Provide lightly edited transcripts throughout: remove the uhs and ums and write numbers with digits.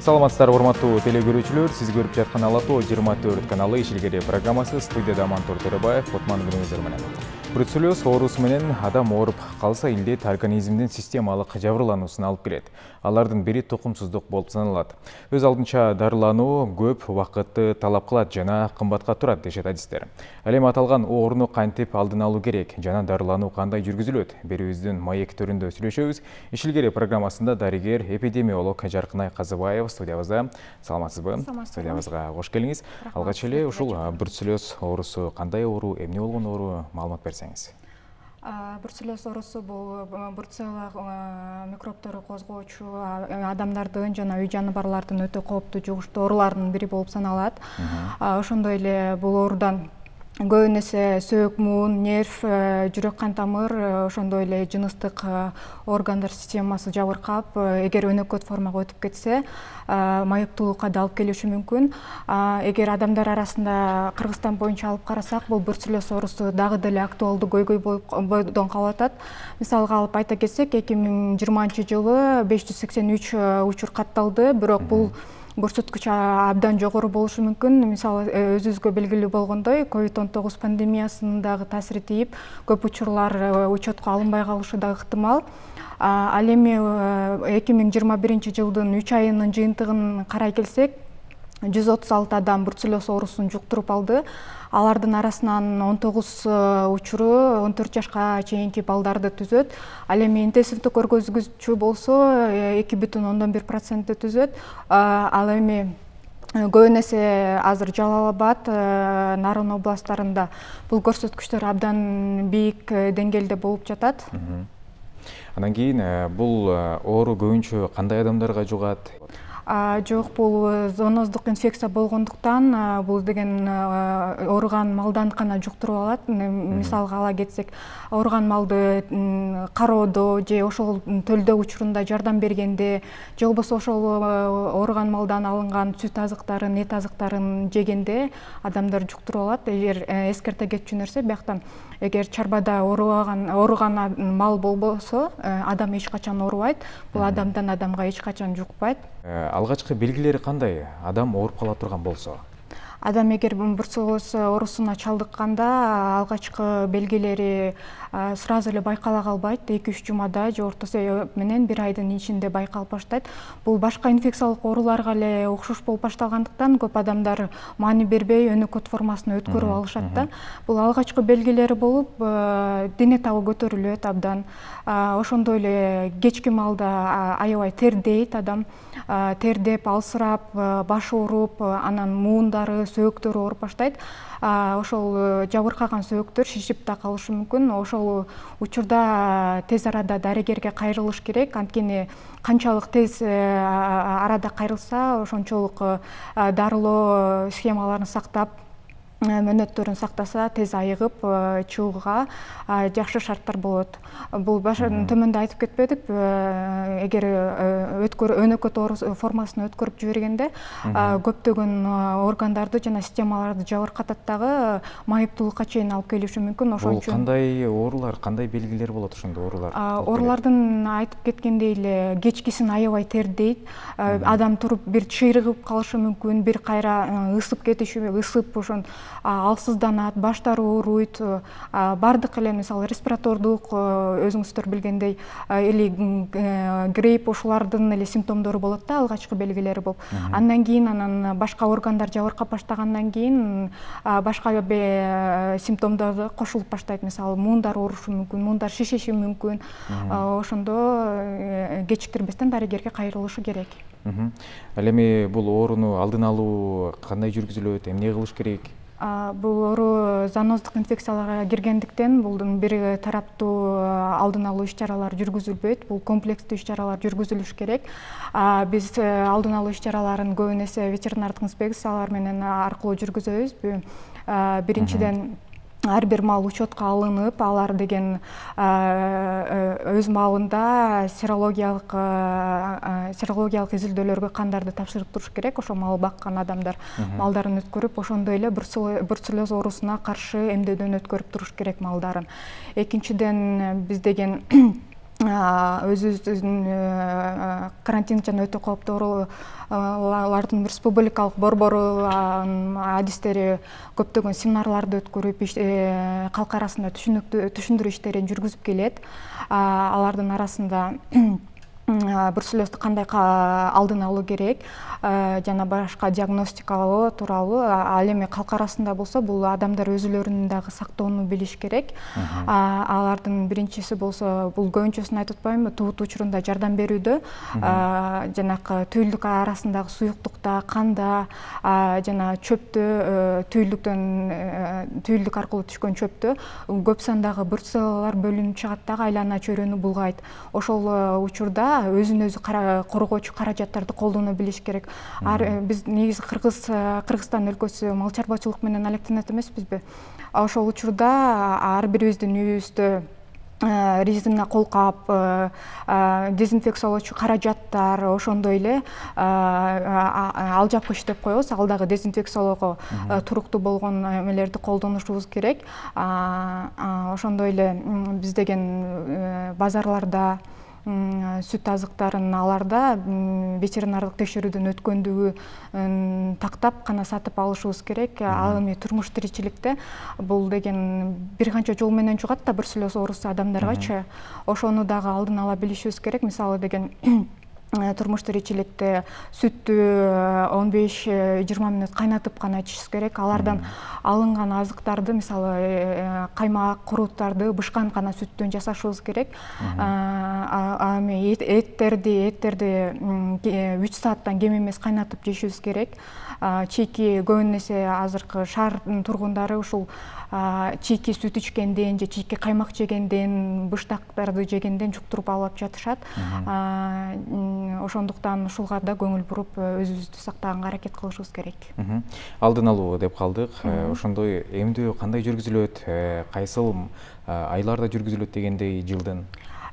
Саламатсыздар, урматтуу теле көрүүчүлөр. Сиз көрүп жаткан Ала Тоо 24 каналы ишилгери программасы. Студияда Мантур Төрөбаев, Отман күнүңүздөр менен. Бруцеллез оорусу менен адам ооруп калса, илдет организмдин системалык жабырлануусуна алып келет. Алардын бири тукумсуздук болуп саналат. Өз алдынча дарылануу көп убакытты талап кылат жана кымбатка турат дешет адистер. Ал эми аталган ооруну кантип алдын алуу керек жана дарылануу кандай жүргүзүлөт? Берүүбүздүн маек төрүндө сүйлөшөбүз. Ишилгери программасында дарыгер эпидемиолог Жаркынай Казыбаева студиябызда. Саламатсызбы? Студиябызга кош келиңиз. Алгач эле ушул бруцеллез оорусу кандай оору, эмне болгон оору, маалымат берсеңиз. Бруцеллез оорусу бул бруцелла микробтору козгоочу адамдардын жана үй жаныбарлардын өтө кооптуу жугуштуу ооруларынын бири болуп саналат. Ошондой эле бул оорудан көбүн эсе сөөк, муун, нерв, жүрөк кан тамыр, ошондой эле жыныстык органдар системасы жабыркап, эгер өнөкөт формага өтүп кетсе, майыптуулукка да алып келиши мүмкүн. Эгер адамдар арасында Кыргызстан боюнча алып карасак, бул бруцеллез оорусу дагы деле актуалдуу көйгөй бойдон калып атат. Мисалга алып айта кетсек, 2020-жылы 583 учур катталды, бирок бул көрсөткүч абдан жогору болушу мүмкүн. Мисалы, өзүбүзгө белгилүү болгондой, COVID-19 пандемиясынын дагы таасири тийип, көп учурлар учетко алынбай калышы да ыктымал. Ал эми 2021-жылдын 3 айынын жыйынтыгын карай келсек, 136 адам бруцеллез оорусун жуктуруп алды. Алардын арасынан 19 учуру 14 жашка чейинки балдарды түзөт. Ал эми интенсивдүү көргөзгүчү болсо 2,1% түзөт. Ал эми көбүн эсе азыр Жалал Абад, Нарын областтарында бул көрсөткүчтөр абдан бийик деңгээлде болуп жатат. Анан кийин бул оору көбүнчө кандай адамдарга жугат? Жок, бул зооноздук инфекция болгондуктан бул деген ооруган малдан гана жуктуруп алат. Мисалга ала кетсек, ооруган малды кароодо же ошол төлдөө учурунда жардам бергенде, же болбосо ошол ооруган малдан алынган сүт азыктарын, эт азыктарын жегенде адамдар жуктуруп алат. Эгер эскерте кетчү нерсе, бияктан эгер чарбада ооруган мал болбосо, адам эч качан оорубайт. Бул адамдан адамга эч качан жукпайт. Алгачкы белгилери кандай? Адам ооруп кала турган болсо? Адам эгер бруцеллез оорусуна чалдыкканда, алгачкы белгилери сразу эле байкала калбайт. 2-3 жумада же орто эсеп менен 1 айдын ичинде байкалып баштайт. Бул башка инфекциялык ооруларга эле окшош болуп башталгандыктан көп адамдар маани бербей өнөкөт формасына өткөрүп алышат да. Бул алгачкы белгилери болуп, дене табы көтөрүлөт абдан. Ошондой эле кечки маалда аябай тердейт адам. Тердеп, алсырап, баш ооруп, анан муундары, сөөктөрү ооруп баштайт. Ошол жабыркаган сөөктөр шишип да калышы мүмкүн. Ошол учурда тез арада дарыгерге кайрылыш керек. Анткени канчалык тез арада кайрылса, ошончолук дарылоо схемаларын сактап, мөөнөттөрүн сактаса, тез айыгып чыгууга жакшы шарттар болот. Бул төмөндө айтып кетпедик, эгер өнөкөт оору формасына өткөрүп жибергенде көптөгөн органдарды жана системаларды жабыркатат дагы, майыптуулукка чейин алып келиши мүмкүн. Бул кандай оорулар, кандай белгилер болот ошондо оорулар? Оорулардын айтып кеткендей эле кечкисин аябай тердейт. Адам туруп бир чыйрыгып калышы мүмкүн, бир кайра ысып кетиши, ошон алсызданат, баштары ооруйт. Бардык эле мисалы респиратордук, өзүңүздөр билгендей, или грипп, ошолардын эле симптомдору болот да, алгачкы белгилери болуп. Андан кийин башка органдар жабыркап баштагандан кийин башка симптомдор кошулуп баштайт. Мисалы муундар оорушу мүмкүн, муундар шишиши мүмкүн. Ошондо кечиктирбестен дарыгерге кайрылышы керек. Ал эми бул ооруну алдын алуу кандай жүргүзүлөт, эмне кылыш керек? Бул оору зооноздук инфекцияларга киргендиктен булдун бир тараптуу алдын алуу иш-чаралар жүргүзүлбөйт. Бул комплекстүү иш-чаралар жүргүзүлүш керек. Биз алдын алуу иш-чараларын көбүн эсе ветеринардык инспекциялар менен аркылуу жүргүзөбүз. Биринчиден ар бир мал учетко алынып, алар деген өз маалында серологиялык изилдөөлөргө кандарды тапшырып туруш керек. Ошо мал баккан адамдар малдарын өткөрүп, ошондой эле бруцеллез оорусуна каршы эмдөөдөн өткөрүп туруш керек малдарын. Экинчиден, биз деген өзүбүздүн карантин жана өтө кооптуу оорулардын республикалык борбору адистери көптөгөн семинарларды өткөрүп калк арасында түшүндүрүү иштерин жүргүзүп келет. Алардын арасында бруцеллезду кандай алдын алуу керек жана башка диагностикалоо тууралуу. Ал эми калк арасында болсо бул адамдар өзүлөрүн дагы сактоону билиш керек. Алардын биринчиси болсо бул көбүнчөсүн айтып атпайбынбы, тубут учурунда жардам берүүдө жанакы түйүлдүк арасындагы суюктукта, канда жана чөптө түйүлдүк аркылуу түшкөн чөптө көп сандагы бруцеллалар бөлүнүп чыгат дагы, айлана чөйрөнү булгайт. Ошол учурда өзүн өзү коргоочу каражаттарды колдоно билиш керек. Биз негизи Кыргызстан өлкөсү мал чарбачылык менен алектенет эмеспизби? Ошол учурда ар бирибиздин үйүбүздө резина колкап, дезинфекциялоочу каражаттар, ошондой эле алжапкыч деп коебуз, ал дагы дезинфекциялоого туруктуу болгон эмелерди колдонушубуз керек. Ошондой эле биз деген базарларда сүт азыктарын аларда ветеринардык текшерүүдөн өткөндүгү тактап гана сатып алышыбыз керек. Ал эми турмуш тиричиликте бул деген бир канча жол менен жугат да бруцеллез оорусу адамдаргачы. Ошону дагы алдын ала билишибиз керек. Мисалы деген турмуш тиричиликте сүттү 15-20 мүнөт кайнатып гана ичишибиз керек. Алардан алынган азыктарды, мисалы каймак, курууттарды бышкан гана сүттөн жасашыбыз керек. Эми эттерди 3 сааттан кем эмес кайнатып жешибиз керек. Чийки көбүн эсе азыркы шаар тургундары ушул чийки сүт ичкенден же чийки каймак жегенден, быштактарды жегенден жуктуруп алып жатышат. Ошондуктан ушулга да көңүл буруп өзүбүздү сактаганга аракет кылышыбыз керек. Алдын алуу деп калдык. Ошондой эмдөө кандай жүргүзүлөт, кайсыл айларда жүргүзүлөт дегендей жылдын?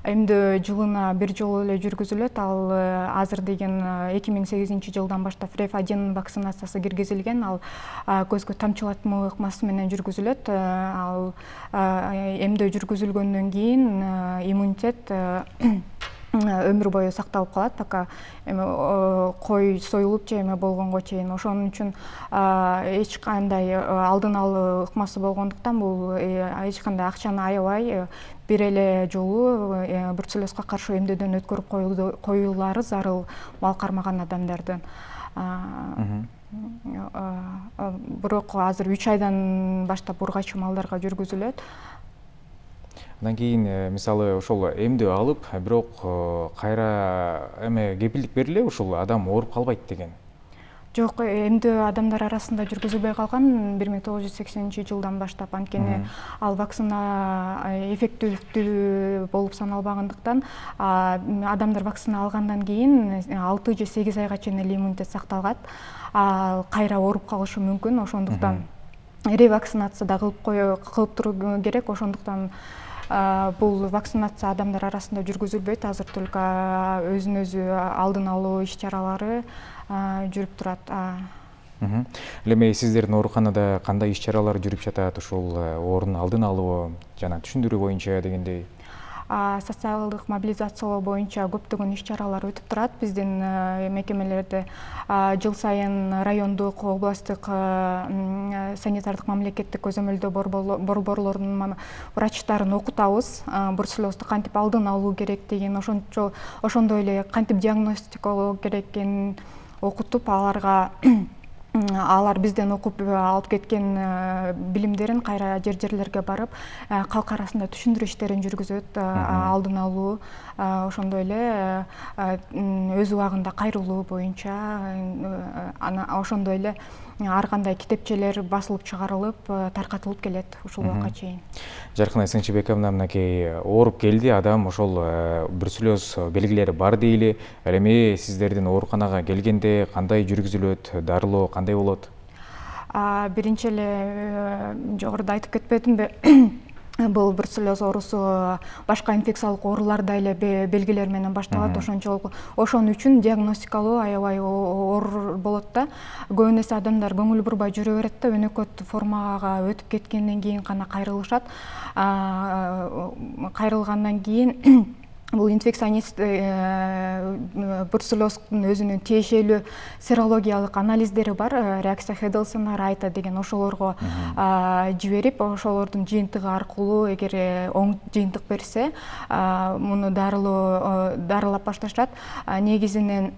Эмдөө жылына бир жолу эле жүргүзүлөт. Ал азыр деген 2008-жылдан баштап Реф-1 вакцинациясы киргизилген. Ал көзгө тамчылатма ыкмасы менен жүргүзүлөт. Ал эмдөө жүргүзүлгөндөн кийин иммунитет өмүр бою сакталып калат, пока эми кой союлуп же эме болгонго чейин. Ошон үчүн эч кандай алдын алуу ыкмасы болгондуктан бул эч кандай акчаны аябай бир эле жолу бруцеллезге каршы эмдөөдөн өткөрүп коюулары зарыл мал кармаган адамдардын. Бирок азыр 3 айдан баштап ургачы малдарга жүргүзүлөт. Андан кийин мисалы ошол эмдөө алып, бирок кайра эме кепилдик берилеби ушул адам ооруп калбайт деген? Жок, эмдөө адамдар арасында жүргүзүлбөй калган 1980-жылдан баштап. Анткени ал вакцина эффективдүү болуп саналбагандыктан адамдар вакцина алгандан кийин 6 же 8 айга чейин эле иммунитет сакталгат. Кайра ооруп калышы мүмкүн. Ошондуктан ревакцинация да кылып туруу керек. Ошондуктан бул вакцинация адамдар арасында жүргүзүлбөйт. Азыр только өзүн өзү алдын алуу иш-чаралары жүрүп турат. Эми сиздердин ооруканада кандай иш-чаралар жүрүп жатат ушул оорунун алдын алуу жана түшүндүрүү боюнча дегендей? Социалдык мобилизациялоо боюнча көптөгөн иш-чаралар өтүп турат. Биздин мекемелерде жыл сайын райондук, областтык санитардык мамлекеттик көзөмөлдөө борборлорунун врачтарын окутабыз. Бруцеллезду кантип алдын алуу керек деген, ошондой эле кантип диагностикалоо керекин окутуп, алар бизден окуп алып кеткен билимдерин кайра жерлерге барып, калк арасында түшүндүрүү иштерин жүргүзөт, алдын алуу, ошондой эле өз убагында кайрылуу боюнча, ошондой эле ар кандай китепчелер басылып чыгарылып, таркатылып келет ушул убакка чейин. Жаркынай Сыңчыбековна, мынакей ооруп келди адам, ошол бруцеллез белгилери бар дейли. Ал эми сиздердин ооруканага келгенде кандай жүргүзүлөт, дарылоо кандай болот? Биринчи эле жогоруда айтып кетпедимби? Бул бруцеллез оорусу башка инфекциялык ооруларда эле белгилер менен башталат. Ошон үчүн диагностикалоо аябай оор болот да. Көбүн эсе адамдар көңүл бурбай жүрө берет да, өнөкөт формага өтүп кеткенден кийин гана кайрылышат. Кайрылгандан кийин бул инфекционист бруцеллоздун өзүнүн тиешелүү серологиялык анализдери бар, реакция Хедлсона, Райта деген, ошолорго жиберип, ошолордун жыйынтыгы аркылуу эгер оң жыйынтык берсе, муну дарылап башташат. Негизинен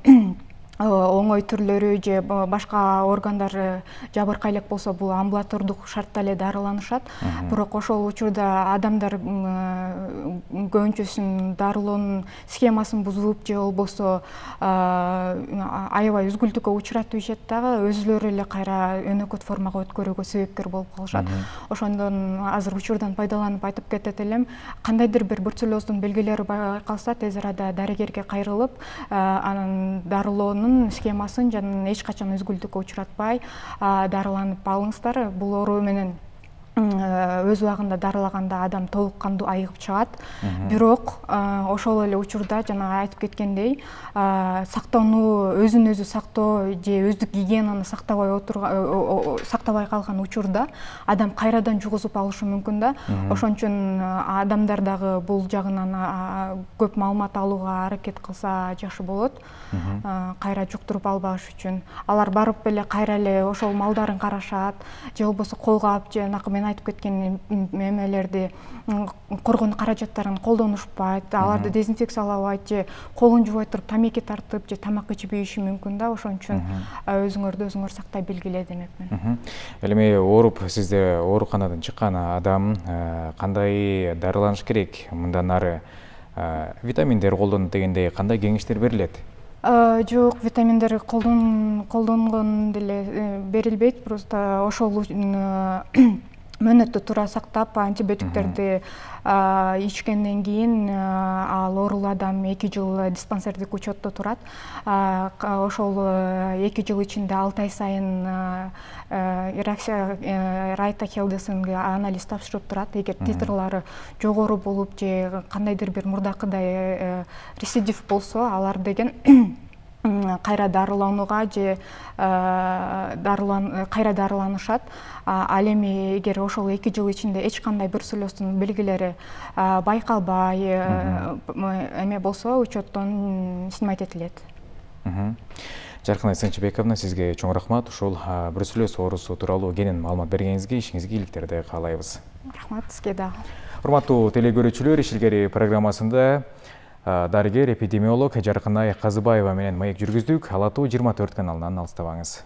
оңой түрлөрү же башка органдар жабыркай элек болсо бул амбулатордук шартта эле дарыланышат. Бирок ошол учурда адамдар көбүнчөсүнүн дарылоонун схемасын бузуп же болбосо аябай үзгүлтүккө учуратып ишет дагы, өзүлөрү эле кайра өнөкөт формага өткөрүүгө себепкер болуп калышат. Ошондон азыр учурдан пайдаланып айтып кетет элем, кандайдыр бир бруцеллоздун белгилери байкалса, тез арада дарыгерге кайрылып, анан дарылоонун схемасын жана эч качан үзгүлтүккө учуратпай дарыланып алыңыздар. Бул оору менен өз убагында дарылаганда адам толук кандуу айыгып чыгат. Бирок ошол эле учурда жана айтып кеткендей, сактануу, өзүн өзү сактоо же өздүк гигиенаны сактабай калган учурда адам кайрадан жугузуп алышы мүмкүн да. Ошон үчүн адамдар дагы бул жагынан көп маалымат алууга аракет кылса жакшы болот. Кайра жуктуруп албаш үчүн алар барып эле кайра эле ошол малдарын карашат, же болбосо колгап, же мен айтып кеткен эмелерди, коргонуу каражаттарын колдонушпайт, аларды дезинфекциялабайт, же колун жубой туруп тамеки тартып же тамак ичип ийиши мүмкүн да. Ошон үчүн өзүңөрдү өзүңөр сактай билгиле демекмин. Ал эми ооруп сизде ооруканадан чыккан адам кандай дарыланыш керек? Мындан ары витаминдер колдонот дегендей кандай кеңештер берилет? Жок, витаминдер колдонгон деле берилбейт. Просто ошол мөөнөттү туура сактап, антибиотиктерди ичкенден кийин ал оорулуу адам 2 жыл диспансердик учетто турат. Ошол 2 жыл ичинде 6 ай сайын реакция Райта Хедлсонго анализ тапшырып турат. Эгер титрлары жогору болуп же кандайдыр бир мурдакыдай рецидив болсо, алар деген кайра дарыланууга же кайра дарыланышат. Ал эми эгер ошол 2 жыл ичинде эч кандай бруцеллоздун белгилери байкалбай эме болсо, учеттон снимать этилет. Жаркынай Сынчыбековна, сизге чоң рахмат. Ушул бруцеллоз оорусу тууралуу кенен маалымат бергениңизге, ишиңизге ийгиликтерди каалайбыз. Рахмат сизге дагы. Урматтуу телекөрүүчүлөр, Ишилгери программасында дарыгер эпидемиолог Жаркынай Казыбаева менен маек жүргүздүк. Ала Тоо 24 каналынан алыстабаңыз.